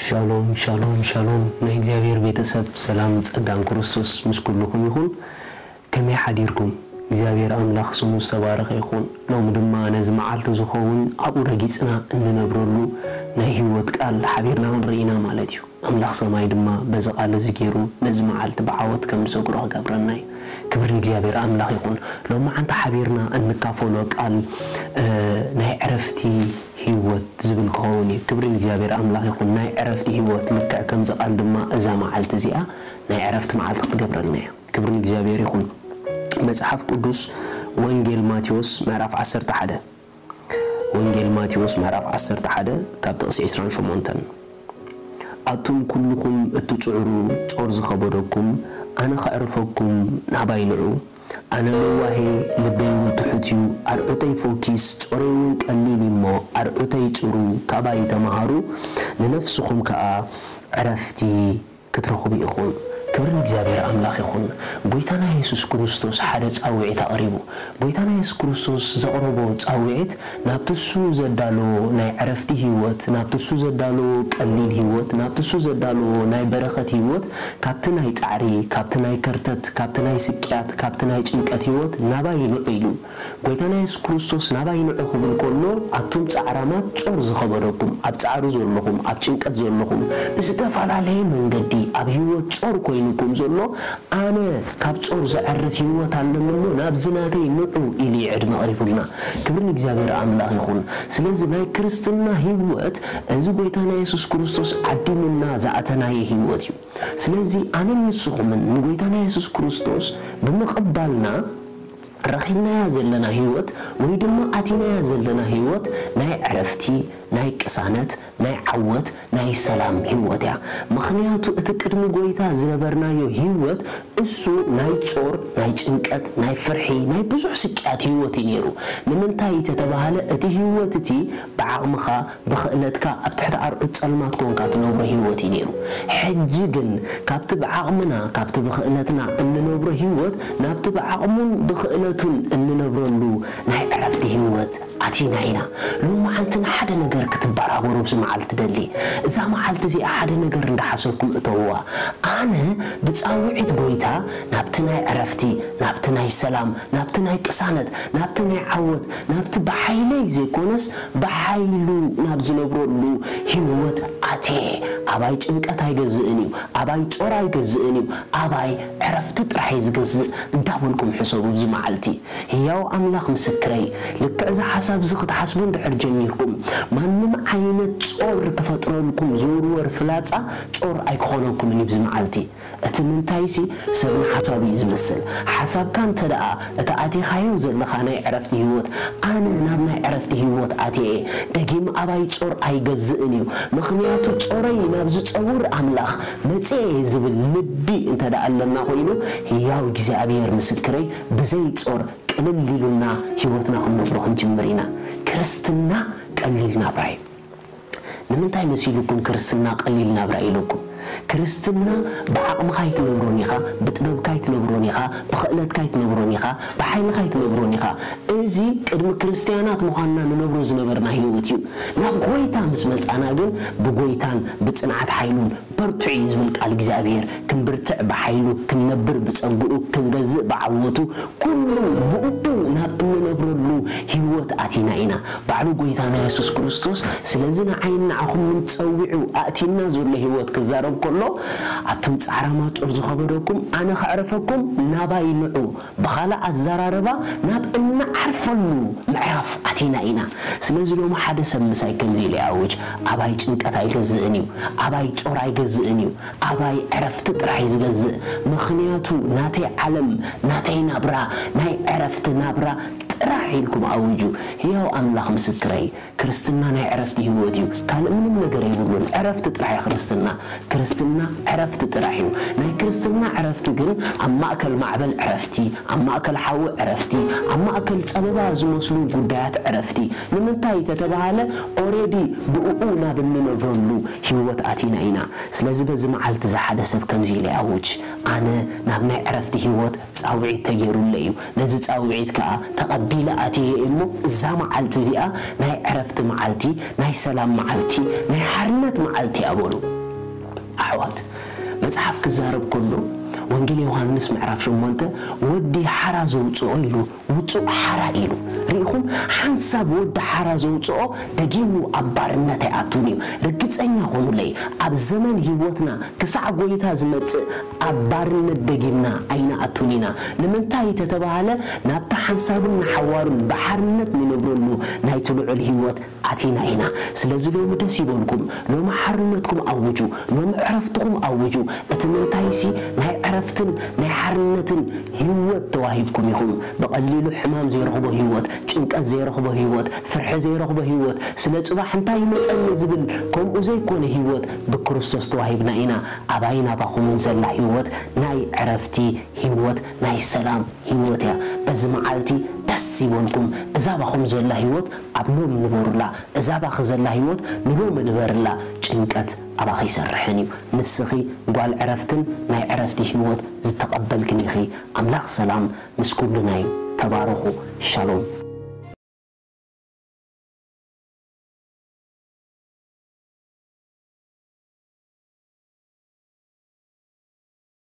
ሻሎም ሻሎም ሻሎም፣ ናይ እግዚኣብሔር ቤተሰብ፣ ሰላም ጸጋን ክርስቶስ ምስ ኩልኹም ይኹን። ከመይ ሓዲርኩም? እግዚኣብሔር ኣምላኽ ስሙ ዝተባረኸ ይኹን። ሎሚ ድማ ነዚ መዓልቲ ዝኸውን ኣብኡ ረጊጽና እንነብረሉ ናይ ህይወት ቃል ሓቢርና ክንርኢ ኢና ማለት እዩ። ኣምላኽ ሰማይ ድማ በዚ ቃል እዚ ገይሩ ነዚ መዓልቲ ብዓወት ከም ንሰግሮ ክገብረና እዩ። ክብሪ ንእግዚኣብሔር ኣምላኽ ይኹን። ሎሚ መዓንቲ ሓቢርና እንካፈሎ ቃል ናይ ዕረፍቲ ህይወት ዝብል ክኸውን እዩ። ክብሪ ንእግዚኣብሔር ኣምላኽ ይኹን። ናይ ዕረፍቲ ህይወት ልክዕ ከምዚ ቃል ድማ እዛ መዓልቲ እዚኣ ናይ ዕረፍቲ መዓልቲ ክትገብረልና እያ። ክብሪ ንእግዚኣብሔር ይኹን። መጽሓፍ ቅዱስ ወንጌል ማቴዎስ ምዕራፍ ዓሰርተ ሓደ፣ ወንጌል ማቴዎስ ምዕራፍ ዓሰርተ ሓደ ካብ ጥቕሲ ዕስራን ሸሞንተን፣ ኣቱም ኩልኹም እትጽዕሩ ጾር ዝኸበደኩም፣ ኣነ ከዕርፈኩም ናባይ ንዑ። ኣነ ለዋሄ፣ ልበይ እውን ትሑት እዩ። ኣርዑተይ ፎኪስ፣ ጾረይ እውን ቀሊል እዩ እሞ፣ ኣርዑተይ ጽሩ፣ ካባይ ተመሃሩ፣ ንነፍስኹም ከኣ ዕረፍቲ ክትረኽቡ ኢኹም። ክብሪ ንእግዚኣብሔር ኣምላኽ ይኹን። ጎይታና የሱስ ክርስቶስ ሓደ ጻውዒት ኣቕሪቡ። ጎይታና የሱስ ክርስቶስ ዘቕረቦ ጻውዒት ናብቲ እሱ ዘዳለዎ ናይ ዕረፍቲ ህይወት፣ ናብቲ እሱ ዘዳለዎ ቀሊል ህይወት፣ ናብቲ እሱ ዘዳለዎ ናይ በረኸት ህይወት፣ ካብቲ ናይ ጻዕሪ፣ ካብቲ ናይ ከርተት፣ ካብቲ ናይ ስቅያት፣ ካብቲ ናይ ጭንቀት ህይወት ናባይ ንዑ ኢሉ። ጎይታና የሱስ ክርስቶስ ናባይ ንዑ ክብል ከሎ፣ ኣቱም ጻዕራማት ጾር ዝኸበደኩም፣ ኣብ ጻዕሪ ዘለኹም፣ ኣብ ጭንቀት ዘለኹም፣ ብዝተፈላለየ መንገዲ ኣብ ህይወት ጾር ኮይኑኩም ዘሎ፣ ኣነ ካብ ጾር ዘዕርፍ ህይወት ኣለኒ እሞ ናብዚ ናተይ ንዑ ኢሉ እዩ ዕድመ ኣቕሪቡልና። ክብሪ ንእግዚኣብሔር ኣምላኽ ይኹን። ስለዚ ናይ ክርስትና ህይወት እዚ ጎይታና የሱስ ክርስቶስ ዓዲሙና ዝኣተናዮ ህይወት እዩ። ስለዚ ኣነን ንስኹምን ንጎይታና የሱስ ክርስቶስ ብምቕባልና ረኺብናያ ዘለና ህይወት ወይ ድማ ኣቲናያ ዘለና ህይወት ናይ ዕረፍቲ፣ ናይ ቅሳነት፣ ናይ ዓወት፣ ናይ ሰላም ህይወት እያ። ምኽንያቱ እቲ ቅድሚ ጎይታ ዝነበርናዮ ህይወት እሱ ናይ ጾር፣ ናይ ጭንቀት፣ ናይ ፍርሒ፣ ናይ ብዙሕ ስቅያት ህይወት እዩ ነይሩ። ንምንታይ ተተባህለ እቲ ህይወት እቲ ብዓቕምኻ፣ ብኽእለትካ ኣብ ትሕቲ ኣርዑት ጸልማት ኮንካ ትነብሮ ህይወት እዩ ነይሩ። ሕጂ ግን ካብቲ ብዓቕምና፣ ካብቲ ብኽእለትና እንነብሮ ህይወት ናብቲ ብዓቕሙን ብኽእለቱን እንነብረሉ ናይ ዕረፍቲ ህይወት ኣቲና ኢና። ሎሚ መዓልቲ ንሓደ ነገር ክትበራበሩ ኣብዚ መዓልቲ ደሊ። እዛ መዓልቲ እዚኣ ሓደ ነገር እንዳሓሰብኩም እተውዋ። ኣነ ብጻውዒት ጎይታ ናብቲ ናይ ዕረፍቲ፣ ናብቲ ናይ ሰላም፣ ናብቲ ናይ ቅሳነት፣ ናብቲ ናይ ዓወት፣ ናብቲ ብሓይለይ ዘይኮነስ ብሓይሉ ናብ ዝነብረሉ ህይወት ኣትየ። ኣባይ ጭንቀት ኣይገዝእን እዩ፣ ኣባይ ጾር ኣይገዝእን እዩ፣ ኣባይ ዕረፍቲ ጥራሕ እዩ ዝገዝእ እንዳበልኩም ሕሰቡ ኣብዚ መዓልቲ። ህያው ኣምላኽ ምስክረይ፣ ልክዕ እዚ ሓሳብ እዚ ክትሓስቡ እንድሕር ጀሚርኩም፣ ማንም ዓይነት ጾር ክፈጥረልኩም ዝውርወር ፍላጻ ጾር ኣይክኾነልኩምን እዩ ኣብዚ መዓልቲ። እቲ ምንታይሲ ሰብ ንሓሳቡ እዩ ዝመስል። ሓሳብካ እንተ ደኣ እቲ ኣቲኻዮ ዘለኻ ናይ ዕረፍቲ ህይወት፣ ኣነ ናብ ናይ ዕረፍቲ ህይወት ኣትየ እየ፣ ደጊም ኣባይ ጾር ኣይገዝእን እዩ፣ ምኽንያቱ ጾረይ ናብ ዝጸውር ኣምላኽ መጺኤ እየ ዝብል ልቢ እንተ ደኣ ኣለና ኮይኑ፣ ህያው እግዚኣብሔር ምስክረይ፣ ብዘይ ጾር ቅልል ኢሉና ህይወትና ክንነብሮ ክንጅምር ኢና። ክርስትና ቀሊል ናብራ እዩ። ንምንታይ መሲልኩም ክርስትና ቀሊል ናብራ ኢለኩም? ክርስትና ብዓቕምኻ ኣይትነብሮን ኢኻ፣ ብጥበብካ ኣይትነብሮን ኢኻ፣ ብኽእለትካ ኣይትነብሮን ኢኻ፣ ብሓይልኻ ኣይትነብሮን ኢኻ። እዚ ቅድሚ ክርስትያናት ምዃንና ንነብሮ ዝነበርና ህይወት እዩ። ናብ ጎይታ ምስ መጻና ግን ብጎይታን ብጽንዓት ሓይሉን በርትዑ እዩ ዝብል ቃል እግዚኣብሔር። ክንብርትዕ ብሓይሉ፣ ክንነብር ብጸግኡ፣ ክንገዝእ ብዓወቱ፣ ኩሉ ብእኡ ናብ እንነብረሉ ህይወት ኣቲና ኢና። ባዕሉ ጎይታና የሱስ ክርስቶስ ስለዚ ንዓይን ንዓኹምን ጸዊዑ ኣእቲና ዘሎ ህይወት ክዛረብ ከሎ፣ ኣቱም ጻዕራማት ጾር ዝኸበደኩም ኣነ ከዕርፈኩም ናባይ ንዑ። ብኻልእ ኣዘራርባ ናብ እንዓርፈሉ ምዕራፍ ኣቲና ኢና። ስለዚ ሎሚ ሓደ ሰብ ምሳይ ከምዚ ኢሉ ይኣውጅ፣ ኣባይ ጭንቀት ኣይገዝእን እዩ፣ ኣባይ ጾር ኣይገዝእን እዩ፣ ኣባይ ዕረፍቲ ጥራሕ እዩ ዝገዝእ። ምኽንያቱ ናተይ ዓለም፣ ናተይ ናብራ፣ ናይ ዕረፍቲ ናብራ ጥራሕ ኢልኩም ኣውጁ። ህያው ኣምላኽ ምስክረይ፣ ክርስትና ናይ ዕረፍቲ ህይወት እዩ። ካልእ ምንም ነገር የብሉን። ዕረፍቲ ጥራሕ እያ ክርስትና። ክርስትና ዕረፍቲ ጥራሕ እዩ። ናይ ክርስትና ዕረፍቲ ግን ኣብ ማእከል ማዕበል ዕረፍቲ፣ ኣብ ማእከል ሓዊ ዕረፍቲ፣ ኣብ ማእከል ጸበባ ዝመስሉ ጉዳያት ዕረፍቲ። ንምንታይ ተተባሃለ፣ ኦሬዲ ብእኡ ናብ እንነብረሉ ህይወት ኣቲና ኢና። ስለዚ በዚ መዓልቲ እዚ ሓደ ሰብ ከምዚ ኢለ ኣውጅ፣ ኣነ ናብ ናይ ዕረፍቲ ህይወት ጻውዒት ተገይሩለይ እዩ። ነዚ ጻውዒት ከኣ ተቐበል። ኢለ ኣትየ እሞ፣ እዛ መዓልቲ እዚኣ ናይ ዕረፍቲ መዓልቲ፣ ናይ ሰላም መዓልቲ፣ ናይ ሓርነት መዓልቲ እያ በሉ። ኣሕዋት፣ መጽሓፍ ክዛረብ ከሎ፣ ወንጌል ዮሃንስ ምዕራፍ ሸሞንተ፣ "ወዲ ሓራ ዘውጽኦ" ኢሉ፣ "ውጹእ ሓራ" ኢሉ። ርኢኹም፣ ሓንሳብ ወዲ ሓራ ዘውጽኦ ደጊሙ ኣብ ባርነት ኣይኣቱን እዩ። ርግጸኛ ኹኑለይ፣ ኣብ ዘመን ህይወትና ክሳዕ ጎይታ ዝመጽእ ኣብ ባርነት ደጊምና ኣይንኣቱን ኢና። ንምንታይ ተተባሃለ፣ ናብታ ሓንሳብን ንሓዋሩን ብሓርነት ንነብረሉ ናይቲ ልዑል ህይወት ኣቲና ኢና። ስለዚ ሎሚ ደስ ይበልኩም፣ ሎሚ ሓርነትኩም ኣውጁ፣ ሎሚ ዕረፍትኹም ኣውጁ። እቲ ምንታይሲ ናይ ዕረፍትን ናይ ሓርነትን ህይወት ተዋሂብኩም ኢኹም። ብቐሊሉ ሕማም ዘይረኽቦ ህይወት፣ ጭንቀት ዘይረኽቦ ህይወት፣ ፍርሒ ዘይረኽቦ ህይወት፣ ስለ ጽባሕ እንታይ ይመጸኒ ዝብል ከምኡ ዘይኮነ ህይወት ብክርስቶስ ተዋሂብና ኢና። ኣባይን ኣባኹምን ዘላ ህይወት ናይ ዕረፍቲ ህይወት፣ ናይ ሰላም ህይወት እያ። በዚ መዓልቲ ደስ ይበልኩም። እዛ ኣባኹም ዘላ ህይወት ኣብ ሎሚ ንበሩላ። እዛ ኣባኺ ዘላ ህይወት ንሎሚ ንበርላ። ጭንቀት ኣባኺ ይሰርሕን እዩ። ንስኺ ጓል ዕረፍትን ናይ ዕረፍቲ ህይወት ዝተቐበልክን ኢኺ። ኣምላኽ ሰላም ምስ ኩልና እዩ። ተባረኹ። ሻሎም።